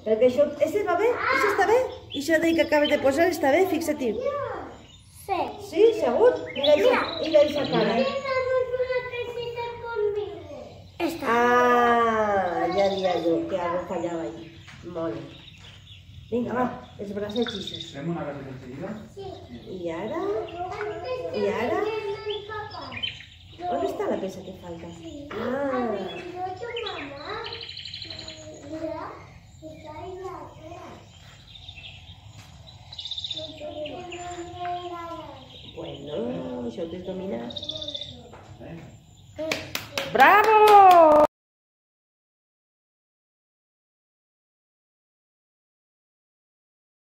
Perquè això, va bé? Això està bé? I això que acabes de posar està bé? Fixa-t'hi. Sí. Sí, segur? Mira esa cara. Ah, ja diria jo que algo fallava ahí. Molt bé. Vinga, va, els bracets ixos. ¿Fem una galleta enseguida? Sí. I ara? I ara? On està la peça que falta? Ah. Bueno, això ho tens dominat. Bravo!